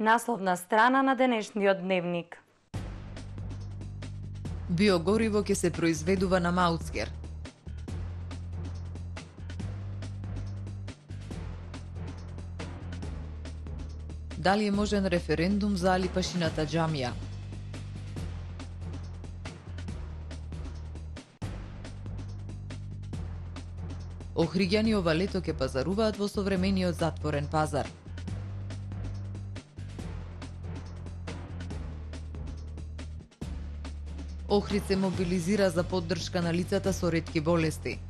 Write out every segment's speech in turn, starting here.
Насловна страна на денешниот дневник. Биогориво ќе се произведува на Маутскер. Дали е можен референдум за Алипашината џамија? Охриѓани ова лето ќе пазаруваат во современиот затворен пазар. Охрид се мобилизира за поддршка на лицата со ретки болести.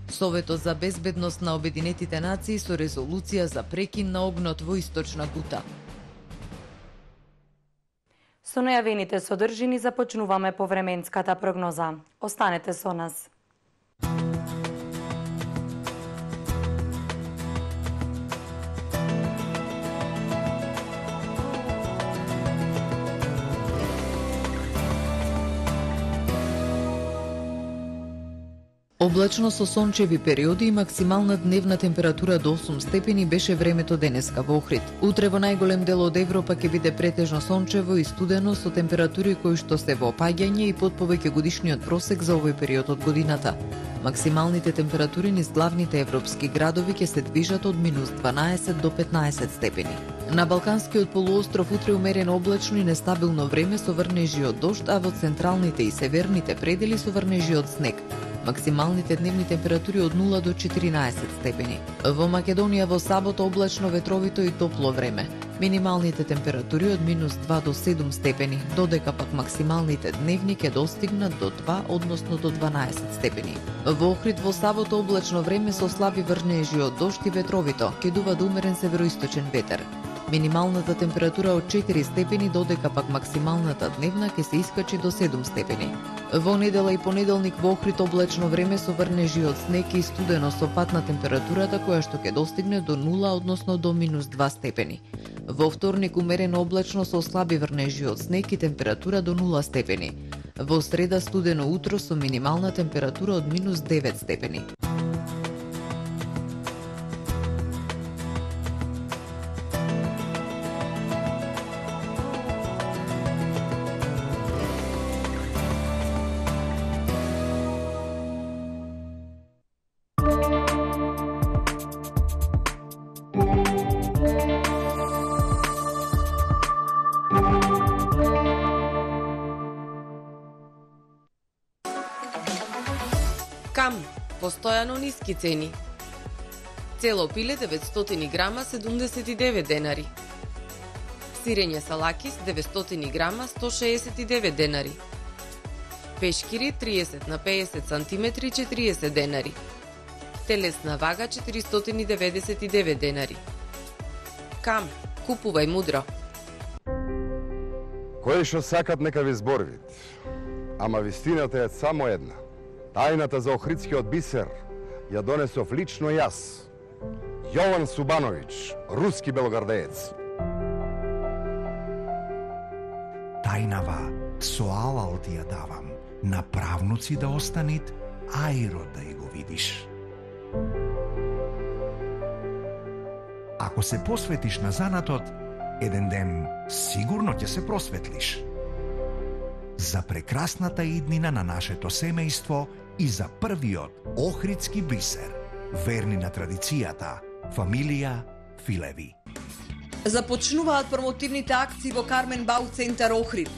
Советот за безбедност на Обединетите нации со резолуција за прекин на огнот во Источна Гута. Со најавените содржини започнуваме повременската прогноза. Останете со нас. Облачно со сончеви периоди и максимална дневна температура до 8 степени беше времето денеска во Охрид. Утре во најголем дел од Европа ќе биде претежно сончево и студено со температури кои што се во опаѓање и под повеќе годишниот просек за овој период од годината. Максималните температури низ главните европски градови ќе се движат од -12 до 15 степени. На Балканскиот полуостров утре умерено облачно и нестабилно време со врнежи од дожд, а во централните и северните предели со врнежи од снег. Максималните дневни температури од 0 до 14 степени. Во Македонија во сабота облачно, ветровито и топло време. Минималните температури од -2 до 7 степени, додека пак максималните дневни ќе достигнат до 2, односно до 12 степени. Во Охрид во сабота облачно време со слаби врнежи од дожд и ветровито, ќе дува до умерен североисточен ветер. Минималната температура од 4 степени, додека пак максималната дневна ќе се искачи до 7 степени. Во недела и понеделник во Охрид облачно време со врнежи од снег и студено со пад на температурата која што ќе достигне до 0, односно до -2 степени. Во вторник умерено облачно со слаби врнежи од снег и температура до 0 степени. Во среда студено утро со минимална температура од -9 степени. Кам, постојано ниски цени. Цело пиле 900 грама 79 денари. Сирење салакис 900 грама 169 денари. Пешкири 30 на 50 сантиметри 40 денари. Телесна вага 499 денари. Кам, купувај мудро. Кои што сакат нека ви зборвит, ама вистината е само една. Тајната за охридскиот бисер ја донесов лично јас, Јован Субановиќ, руски белогардеец. Тајнава со алал ти ја давам, на правнуци да останит, ајро да и го видиш. Ако се посветиш на занатот, еден ден сигурно ќе се просветлиш. За прекрасната иднина на нашето семејство и за првиот охридски бисер, верни на традицијата, фамилија Филеви. Започнуваат промотивните акции во Кармен Бау центар Охрид.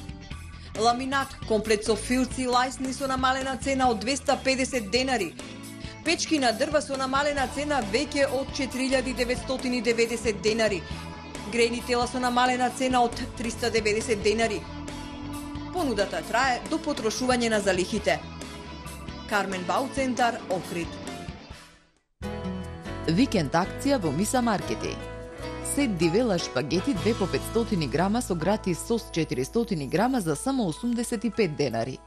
Ламинат, комплет со филци и лајсни со намалена цена од 250 денари. Печки на дрва со намалена цена веќе од 4990 денари. Грени тела со намалена цена од 390 денари. Понудата трае до потрошување на залихите. Кармен Бау центар Охрид. Викенд акција во Миса Маркети. Сет дивела шпагети 2 по 500 грама со гратис сос 400 грама за само 85 денари.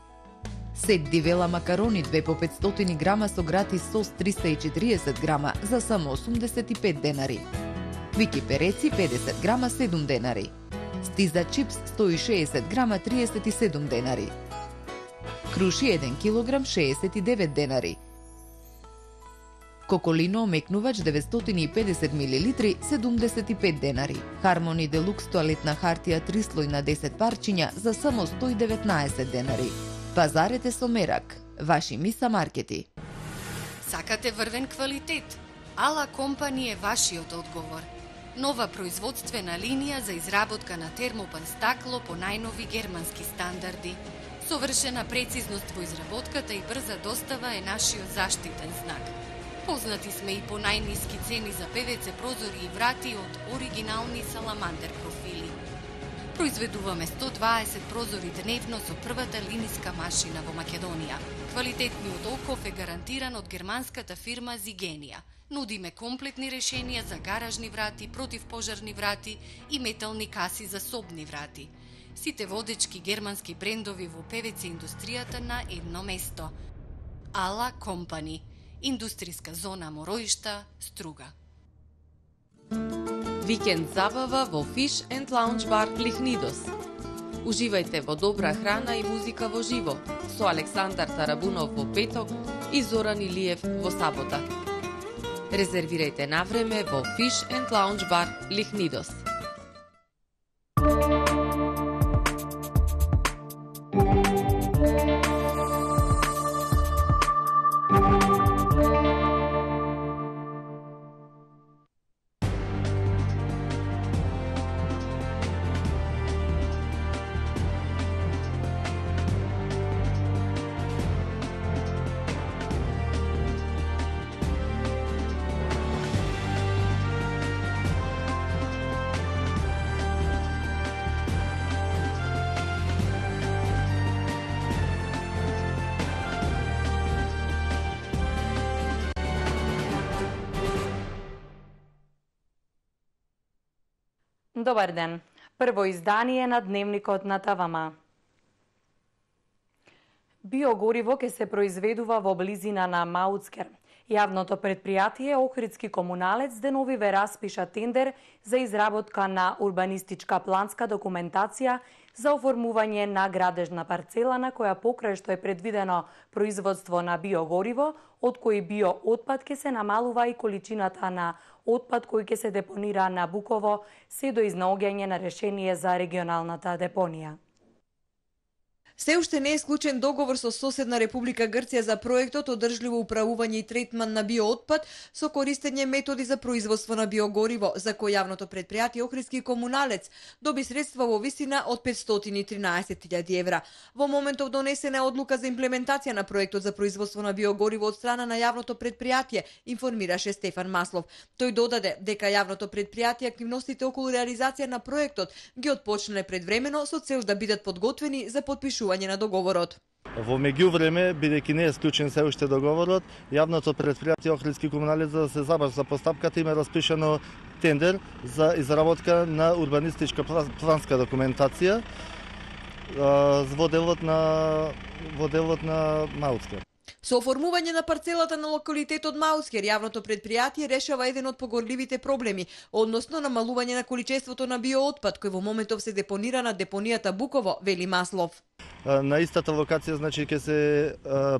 Сет дивела макарони 2 по 500 грама со гратис сос 340 грама за само 85 денари. Квики переци 50 грама 7 денари. Стиза чипс 160 грама 37 денари. Круши 1 килограм 69 денари. Коколино омекнувач 950 мл 75 денари. Хармони Делукс тоалетна хартија 3 слој на 10 парчиња за само 119 денари. Пазарете со мерак. Ваши Миса маркети. Сакате врвен квалитет? Ала Компани е вашиот одговор. Нова производствена линија за изработка на термопан стакло по најнови германски стандарди. Совршена прецизност во изработката и брза достава е нашиот заштитен знак. Познати сме и по најниски цени за ПВЦ прозори и врати од оригинални саламандер профили. Произведуваме 120 прозори дневно со првата линиска машина во Македонија. Квалитетниот оков е гарантиран од германската фирма Зигенија. Нудиме комплетни решенија за гаражни врати, противпожарни врати и метални каси за собни врати. Сите водечки германски брендови во ПВЦ индустријата на едно место. Ала Компани. Индустријска зона Мороишта, Струга. Викенд забава во Fish and Lounge Bar Лихнидос. Уживајте во добра храна и музика во живо со Александар Тарабунов во петок и Зоран Илиев во сабота. Резервирајте на време во Fish and Lounge Bar Лихнидос. Добар ден. Прво издание на Дневникот на ТВМ. Биогориво ќе се произведува во близина на Мауцкер. Јавното предпријатие Охридски комуналец деновиве распиша тендер за изработка на урбанистичка планска документација за оформување на градежна парцела на која покрај што е предвидено производство на биогориво, од кој биоотпад ќе се намалува и количината на отпад кој ќе се депонира на Буково, се до изнаоѓање на решение за регионалната депонија. Се уште не е склучен договор со соседна Република Грција за проектот одржливо управување и третман на биоотпад со користење методи за производство на биогориво, за кој јавното предпријатие Охридски комуналец доби средства во висина од 513.000 евра. Во моментов донесена е одлука за имплементација на проектот за производство на биогориво од страна на јавното предпријатие, информираше Стефан Маслов. Тој додаде дека јавното предпријатие активностите околу реализација на проектот ги отпочнале предвремено со цел да бидат подготвени за подпишување на договорот. Во меѓувреме, бидејќи не е склучен се уште договорот, јавното предпријатие Охридски комуналец за да се забрза постапката има распишано тендер за изработка на урбанистичка планска документација во делот на Мауцкер. Со оформување на парцелата на локалитетот Мауцкер, јавното предпријатие решава еден од погорливите проблеми, односно намалување на количеството на биоотпад кој во моментов се депонира на депонијата Буково, вели Маслов. На истата локација значи ќе се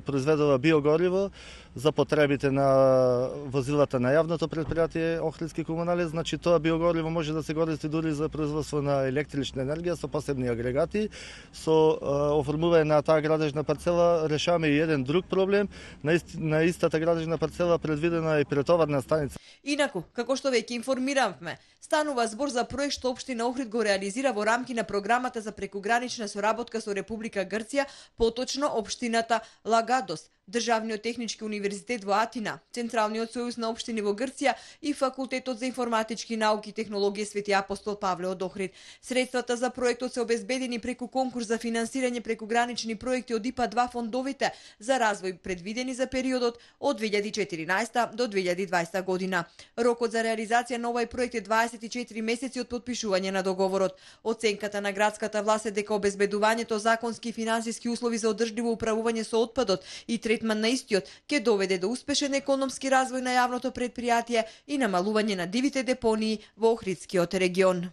произведува биогориво за потребите на возилата на јавното предпријатие Охридски комуналец, значи тоа биогориво може да се користи дури за производство на електрична енергија со посебни агрегати. Со оформување на таа градежна парцела решаваме и еден друг проблем. На истата градежна парцела предвидена е претоварна станица. Инаку, како што веќе информиравме, станува збор за проект што општина Охрид го реализира во рамки на програмата за прекугранична соработка со Република Грција, поточно општината Лагадос, Државниот технички универзитет во Атина, Централниот сојуз на општини во Грција и Факултетот за информатички науки и технологија Свети Апостол Павле од Охрид. Средствата за проектот се обезбедени преку конкурс за финансирање прекугранични проекти од ИПА 2 фондовите за развој предвидени за периодот од 2014 до 2020 година. Рокот за реализација на овој проект е 24 месеци од подпишување на договорот. Оценката на градската власт е дека обезбедувањето законски и финансиски услови за одржливо управување со отпадот и третман на истиот ќе доведе до успешен економски развој на јавното предпријатие и намалување на дивите депонии во Охридскиот регион.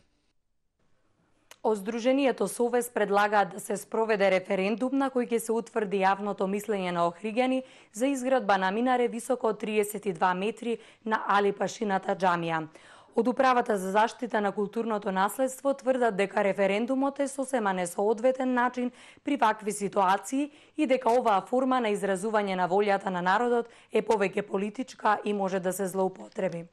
Од Сдруженијето Совест предлагаат да се спроведе референдум на кој ќе се утврди јавното мислење на охриѓани за изградба на минаре високо од 32 метри на Алипашината џамија. Од Управата за заштита на културното наследство тврдат дека референдумот е сосема несоодветен начин при вакви ситуации и дека оваа форма на изразување на волјата на народот е повеќе политичка и може да се злоупотреби.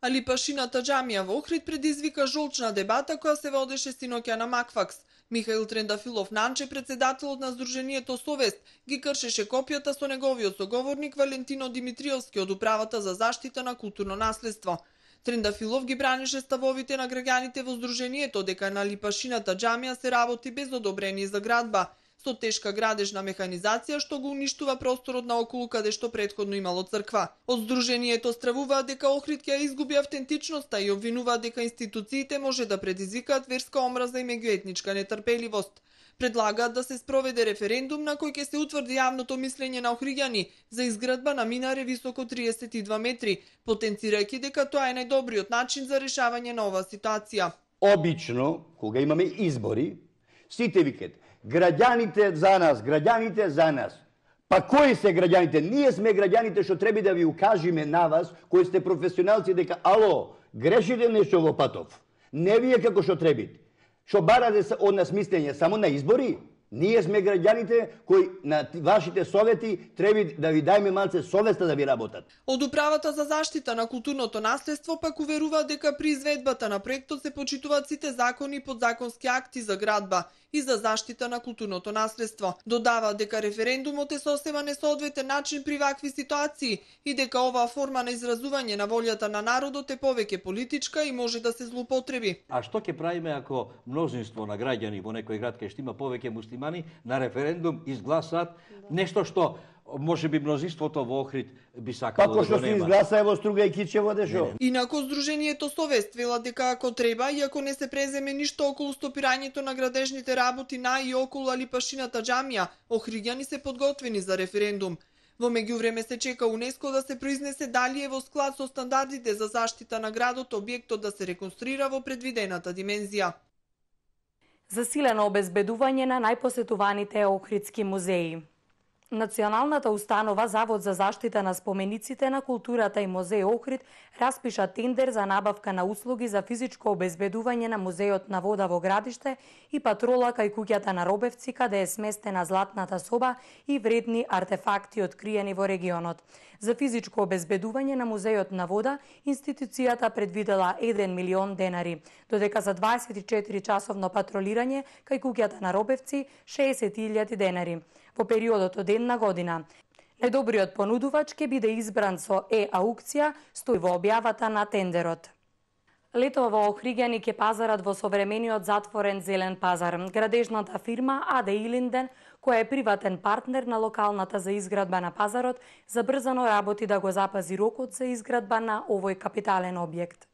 Алипашината џамија во Охрид предизвика жолчна дебата која се водеше синоќа на Макфакс. Михаил Трендафилов Нанче, председателот на Сдруженијето Совест, ги кршеше копијата со неговиот соговорник Валентино Димитриевски од Управата за заштита на културно наследство. Трендафилов ги бранеше ставовите на граѓаните во Сдруженијето дека на Алипашината џамија се работи без одобрение за градба, со тешка градежна механизација што го уништува просторот наоколу каде што претходно имало црква. Од Сдруженијето стравуваат дека Охрид ќе изгуби автентичноста и обвинуваат дека институциите може да предизвикаат верска омраза и меѓуетничка нетрпеливост. Предлагаат да се спроведе референдум на кој ќе се утврди јавното мислење на охриѓани за изградба на минаре високо 32 метри, потенцирајќи дека тоа е најдобриот начин за решавање на оваа ситуација. Обично, кога имаме избори, сите викат граѓаните за нас, граѓаните за нас. Па кои се граѓаните? Ние сме граѓаните што треба да ви укажиме на вас, кои сте професионалци, дека ало, грешите нешто во патов. Не вие како што требите. Што барате од нас мислење само на избори? Ние сме граѓаните кои на вашите совети треба да ви дајме малце совеста да ви работат. Од Управата за заштита на културното наследство пак уверуваат дека при изведбата на проектот се почитуваат сите закони и подзаконски акти за градба и за заштита на културното наследство. Додава дека референдумот е сосема несоодветен начин при вакви ситуации и дека оваа форма на изразување на волјата на народот е повеќе политичка и може да се злоупотреби. А што ќе правиме ако мнозинство на граѓани во некој град кај што има повеќе муслимани на референдум изгласаат нешто што може би мнозинството во Охрид би сакало да го нема. Како што се изгласа ево Струга и Кичево дешо. Инаку Сдруженијето Совест вела дека ако треба и ако не се преземе ништо околу стопирањето на градежните работи на и околу Алипашината џамија, охриѓани се подготвени за референдум. Во меѓувреме се чека УНЕСКО да се произнесе дали е во склад со стандардите за заштита на градот објектот да се реконструира во предвидената димензија. Засилено обезбедување на најпосетуваните охридски музеи. Националната установа Завод за заштита на спомениците на културата и музеј Охрид распиша тендер за набавка на услуги за физичко обезбедување на музејот на вода во градиште и патрола кај куќата на Робевци каде е сместена златната соба и вредни артефакти откриени во регионот. За физичко обезбедување на музејот на вода институцијата предвидела 1 милион денари, додека за 24 часовно патролирање кај куќата на Робевци 60.000 денари. Во периодот од една година. Најдобриот понудувач ќе биде избран со аукција, стои во објавата на тендерот. Летово во Охриѓани ќе пазарат во современиот затворен зелен пазар. Градежната фирма АД Илинден, која е приватен партнер на локалната за изградба на пазарот, забрзано работи да го запази рокот за изградба на овој капитален објект.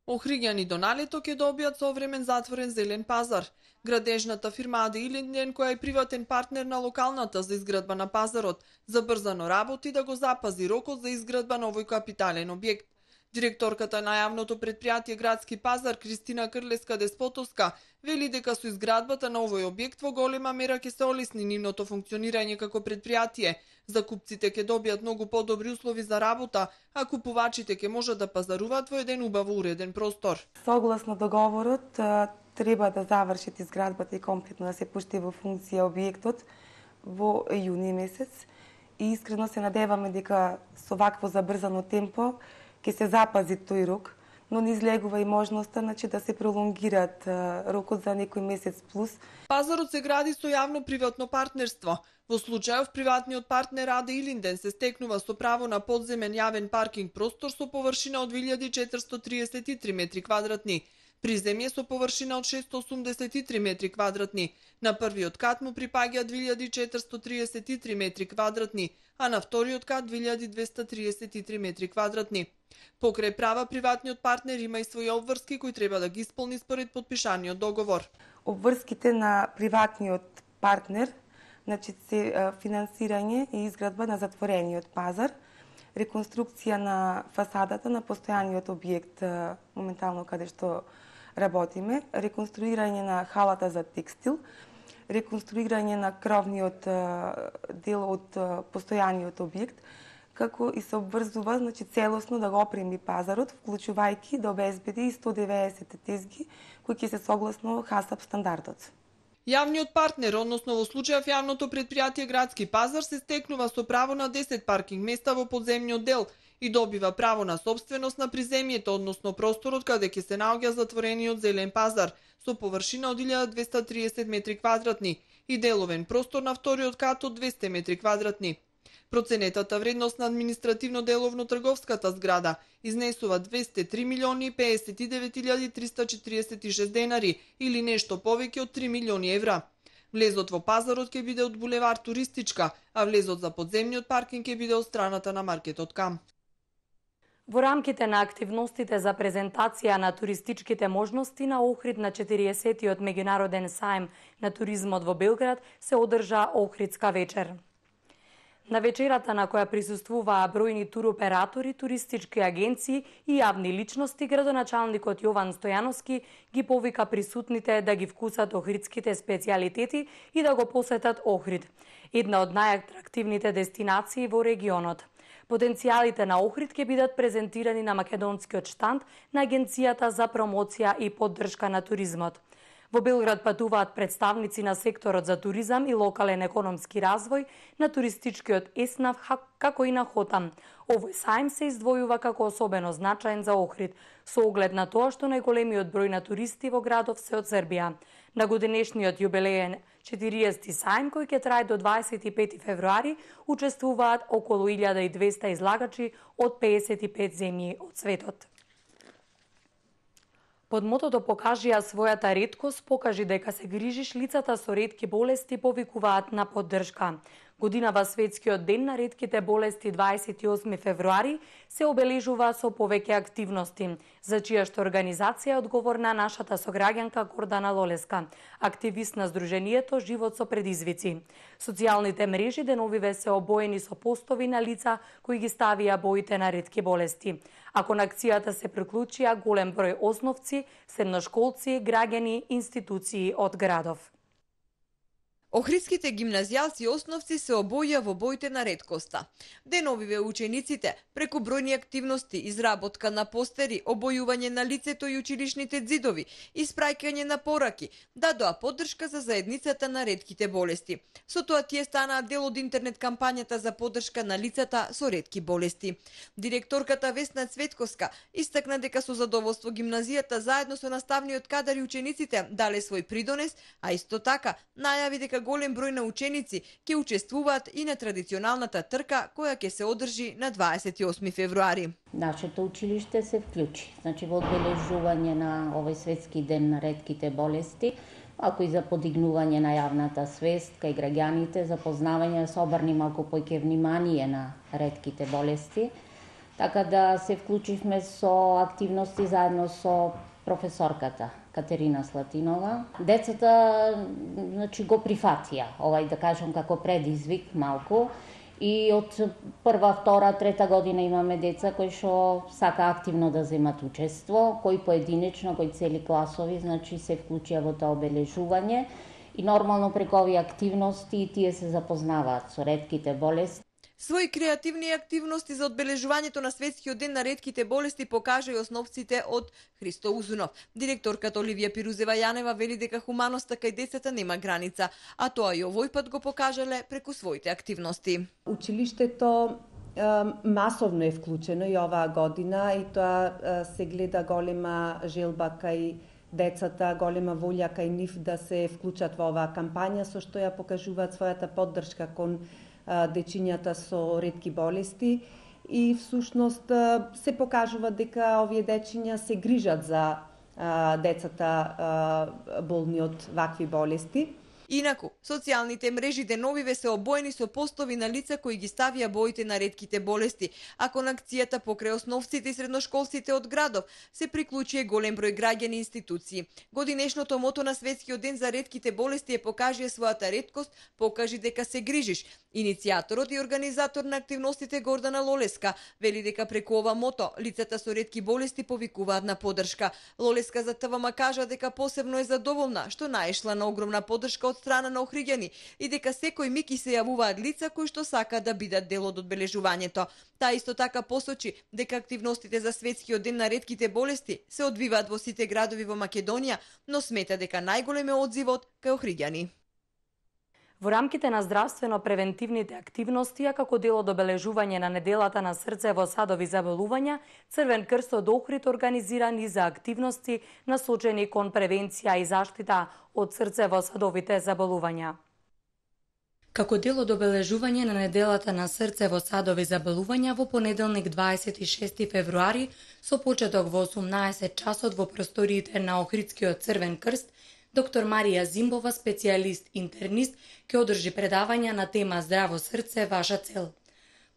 Охриѓани до налето ќе добијат современ затворен зелен пазар. Градежната фирма АД Илинден, која е приватен партнер на локалната за изградба на пазарот, забрзано работи да го запази рокот за изградба на овој капитален објект. Директорката на јавното предпријатие Градски пазар Кристина Крлеска-Деспотовска вели дека со изградбата на овој објект во голема мера ќе се олесни нивното функционирање како предпријатие. Закупците ќе добијат многу подобри услови за работа, а купувачите ќе можат да пазаруваат во еден убаво уреден простор. Согласно договорот, треба да завршат изградбата и комплетно да се пушти во функција објектот во јуни месец и искрено се надеваме дека со вакво забрзано темпо ќе се запази тој рок, но не излегува и можноста да се пролонгираат рокот за некој месец плюс. Пазарот се гради со јавно-приватно партнерство. Во случајов приватниот партнер АД Илинден се стекнува со право на подземен јавен паркинг простор со површина од 2433 метри квадратни. Приземје со површина од 683 метри квадратни. На првиот кат му припаѓа 2433 метри квадратни, а на вториот кат 2233 метри квадратни. Покрај права, приватниот партнер има и своји обврски кои треба да ги исполни според подпишаниот договор. Обврските на приватниот партнер, се финансирање и изградба на затворениот пазар, реконструкција на фасадата на постојаниот објект, моментално каде што работиме, реконструирање на халата за текстил, реконструирање на кровниот дел од постојаниот објект, како и се обврзува целосно да го опреми пазарот, вклучувајќи да обезбеди 190 тезги кои ќе се согласно ХАСАП стандардот. Јавниот партнер, односно во случајов јавното претпријатие Градски пазар, се стекнува со право на 10 паркинг места во подземниот дел и добива право на собственост на приземјето, односно просторот каде ќе се наоѓа затворениот зелен пазар, со површина од 1230 метри квадратни и деловен простор на вториот кат од 200 метри квадратни. Проценетата вредност на административно-деловно-трговската зграда изнесува 203 милиони 59.346 денари или нешто повеќе од 3 милиони евра. Влезот во пазарот ќе биде од булевар Туристичка, а влезот за подземниот паркинг ќе биде од страната на маркетот Кам. Во рамките на активностите за презентација на туристичките можности на Охрид на 40-тиот меѓународен сајм на туризмот во Белград се одржа Охридска вечер. На вечерата на која присуствуваа бројни туроператори, туристички агенции и јавни личности, градоначалникот Јован Стојановски ги повика присутните да ги вкусат охридските специјалитети и да го посетат Охрид, една од најатрактивните дестинации во регионот. Потенцијалите на Охрид ќе бидат презентирани на македонскиот штанд на Агенцијата за промоција и поддршка на туризмот. Во Белград патуваат представници на секторот за туризам и локален економски развој, на туристичкиот ЕСНАВ, како и на ХОТАМ. Овој сајм се издвојува како особено значаен за Охрид, со оглед на тоа што најголемиот број на туристи во градов се од Србија. На годинешниот јубилеен 40-ти сајм, кој ќе трае до 25 февруари, учествуваат околу 1200 излагачи од 55 земји од светот. Под мотото "Покажи ја својата реткост, покажи дека се грижиш", лицата со ретки болести повикуваат на поддршка. Годинава Светскиот ден на ретките болести 28 февруари се обележува со повеќе активности, за чија што организација е одговорна нашата сограѓанка Гордана Лолеска, активист на Сдруженијето Живот со предизвици. Социјалните мрежи деновиве се обоени со постови на лица кои ги ставија боите на ретки болести. А кон акцијата се приклучија голем број основци, средношколци, граѓани, институции од градов. Охридските гимназијалци и основци се обоја во боите на реткоста. Деновиве учениците, преку бројни активности, изработка на постери, обојување на лицето и училишните ѕидови, испраќање на пораки, дадоа поддршка за заедницата на ретките болести. Со тоа тие станаа дел од интернет кампањата за поддршка на лицата со ретки болести. Директорката Весна Цветковска истакна дека со задоволство гимназијата заедно со наставниот кадар и учениците дале свој придонес, а исто така најави дека голем број на ученици ќе учествуваат и на традиционалната трка која ќе се одржи на 28 февруари. Нашето училиште се вклучи, во одбележување на овој светски ден на ретките болести, ако и за подигнување на јавната свест кај граѓаните, за познавање, да се обрни малку поќе внимание на ретките болести. Така да се вклучивме со активности заедно со професорката Катерина Слатинова. Децата го прифатија, овај да кажем како предизвик малку, и од прва, втора, трета година имаме деца кои што сака активно да земат учество, кои поединечно, кои цели класови, се вклучија во тоа обележување и нормално преку овие активности тие се запознаваат со ретките болести. Свои креативни активности за одбележувањето на Светскиот ден на ретките болести покажа и основците од Христо Узунов. Директорката Оливија Пирузева Јанева вели дека хуманоста кај децата нема граница, а тоа и овој пат го покажале преку своите активности. Училиштето масовно е вклучено и оваа година и тоа се гледа голема желба кај децата, голема волја кај нив да се вклучат во оваа кампања, со што ја покажуваат својата поддршка кон дечињата со ретки болести и всушност се покажува дека овие дечиња се грижат за децата болни од вакви болести. Инаку, социјалните мрежи деновиве се обоени со постови на лица кои ги ставија боите на ретките болести, а кон акцијата покрај основците и средношколците од градов се приклучи голем број граѓани и институции. Годинешното мото на Светскиот ден за ретките болести е покажи својата реткост, покажи дека се грижиш. Иницијаторот и организатор на активностите Гордана Лолеска вели дека преку ова мото лицата со ретки болести повикуваат на поддршка. Лолеска за ТВМ кажа дека посебно е задоволна што наешла на огромна поддршка од страна на охриѓани и дека секој миг и се јавуваат лица кои што сакаат да бидат дел од одбележувањето. Таа исто така посочи дека активностите за Светскиот ден на ретките болести се одвиваат во сите градови во Македонија, но смета дека најголем е одзивот кај охриѓани. Во рамките на здравствено-превентивните активности, а како дел од обележување на неделата на срцево-садови заболувања, Црвен крст од Охрид организира низа активности насочени кон превенција и заштита од срцево-садовите заболувања. Како дел од обележување на неделата на срцево-садови заболувања во понеделник 26 февруари со почеток во 18 часот во просториите на Охридскиот Црвен крст, доктор Марија Зимбова, специјалист интернист, ќе одржи предавања на тема Здраво срце, ваша цел.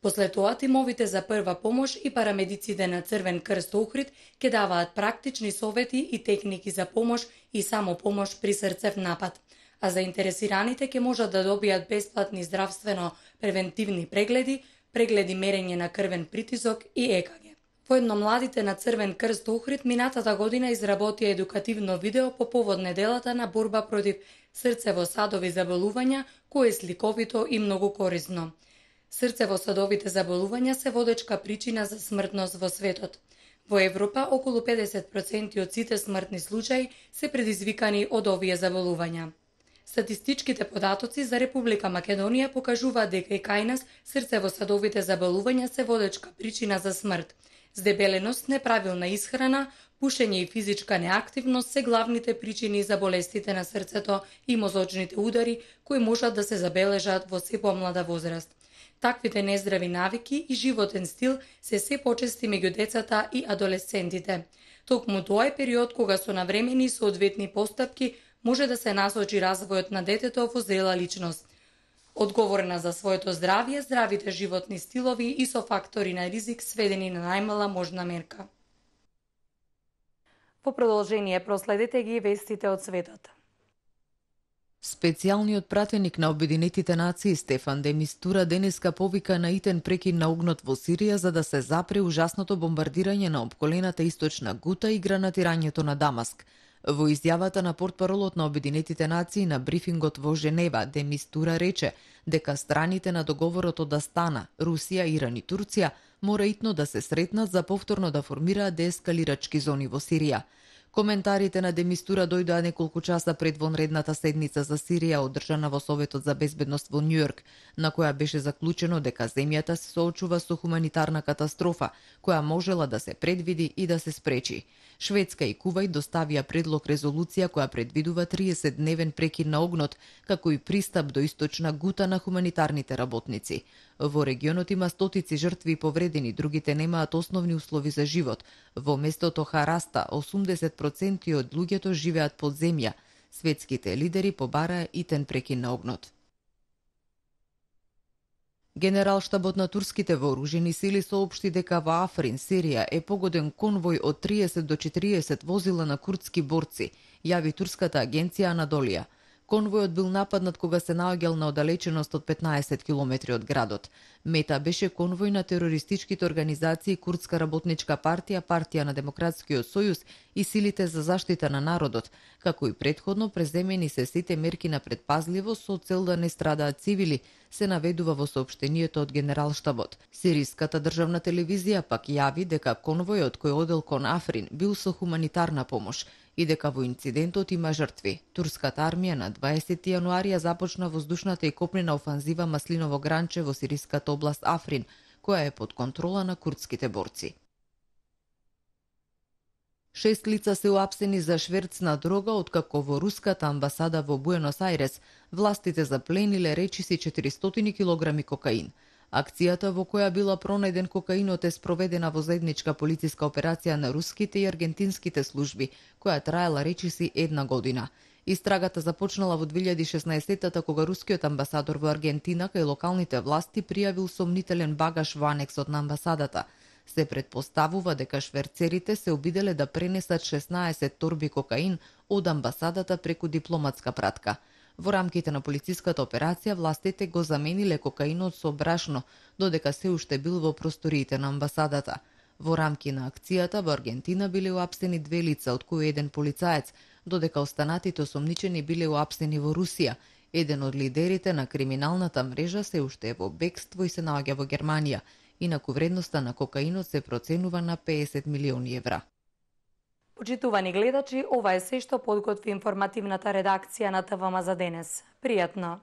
После тоа тимовите за прва помош и парамедиците на Црвен крст Охрид ќе даваат практични совети и техники за помош и самопомош при срцев напад. А заинтересираните ќе можат да добијат бесплатни здравствено-превентивни прегледи, прегледи мерење на крвен притисок и ЕКГ. Воедно младите на Црвен крст Охрид минатата година изработија едукативно видео по повод неделата на борба против срцево-садови заболувања, кое е сликовито и многу корисно. Срцево-садовите заболувања се водечка причина за смртност во светот. Во Европа, околу 50% од сите смртни случаи се предизвикани од овие заболувања. Статистичките податоци за Република Македонија покажуваат дека и кај нас срцево-садовите заболувања се водечка причина за смрт. Здебеленост, неправилна исхрана, пушење и физичка неактивност се главните причини за болестите на срцето и мозочните удари кои можат да се забележат во се помлада возраст. Таквите нездрави навики и животен стил се почести меѓу децата и адолесцентите. Токму тоа е период кога со навремени соодветни постапки може да се насочи развојот на детето во зрела личност. Одговорна за своето здравје, здравите животни стилови и со фактори на ризик сведени на најмала можна мерка. Во продолжение проследете ги вестите од светот. Специјалниот пратеник на Обединетите нации Стефан де Мистура денеска повика на итен прекин на огнот во Сирија за да се запре ужасното бомбардирање на опколената источна Гута и гранатирањето на Дамаск. Во изјавата на портпаролот на Обединетите нации на брифингот во Женева, де Мистура рече дека страните на договорот од Астана, Русија, Иран и Турција мора итно да се сретнат за повторно да формираат деескалирачки зони во Сирија. Коментарите на Демистура дојдоа неколку часа пред вонредната седница за Сирија одржана во Советот за безбедност во Њујорк, на која беше заклучено дека земјата се соочува со хуманитарна катастрофа, која можела да се предвиди и да се спречи. Шведска и Кувајт доставија предлог резолуција која предвидува 30-дневен прекин на огнот, како и пристап до источна Гута на хуманитарните работници. Во регионот има стотици жртви и повредени, другите немаат основни услови за живот. Во местото Хараста 80% од луѓето живеат под земја. Светските лидери побараа итен прекин на огнот. Генералштабот на турските вооружени сили соопшти дека во Африн, Сирија, е погоден конвој од 30 до 40 возила на курдски борци, јави турската агенција Анадолија. Конвојот бил нападнат кога се наоѓал на оддалеченост од 15 километри од градот. Мета беше конвој на терористичките организации Курдска работничка партија, Партија на Демократскиот сојуз и силите за заштита на народот, како и претходно преземени се сите мерки на предпазливост со цел да не страдаат цивили, се наведува во соопштението од Генералштабот. Сириската државна телевизија пак јави дека конвојот кој одел кон Африн бил со хуманитарна помош и дека во инцидентот има жртви. Турската армија на 20 јануарија започна воздушната и копнена офанзива Маслиново гранче во сириската област Африн, која е под контрола на курдските борци. 6 лица се уапсени за шверц на дрога, откако во руската амбасада во Буенос Ајрес властите заплениле речиси 400 килограми кокаин. Акцијата во која била пронајден кокаинот е спроведена во заедничка полициска операција на руските и аргентинските служби, која траела речиси 1 година. Истрагата започнала во 2016-та кога рускиот амбасадор во Аргентина кај локалните власти пријавил сомнителен багаж во анексот на амбасадата. Се претпоставува дека шверцерите се обиделе да пренесат 16 торби кокаин од амбасадата преку дипломатска пратка. Во рамките на полициската операција властите го замениле кокаинот со брашно, додека се уште бил во просториите на амбасадата. Во рамки на акцијата во Аргентина биле уапсени 2 лица, од кои еден полицаец, додека останатите осомничени биле уапсени во Русија. Еден од лидерите на криминалната мрежа се уште е во бегство и се наоѓа во Германија. Инаку вредноста на кокаинот се проценува на 50 милиони евра. Почитувани гледачи, ова е се што подготви информативната редакција на ТВМ за денес. Пријатно!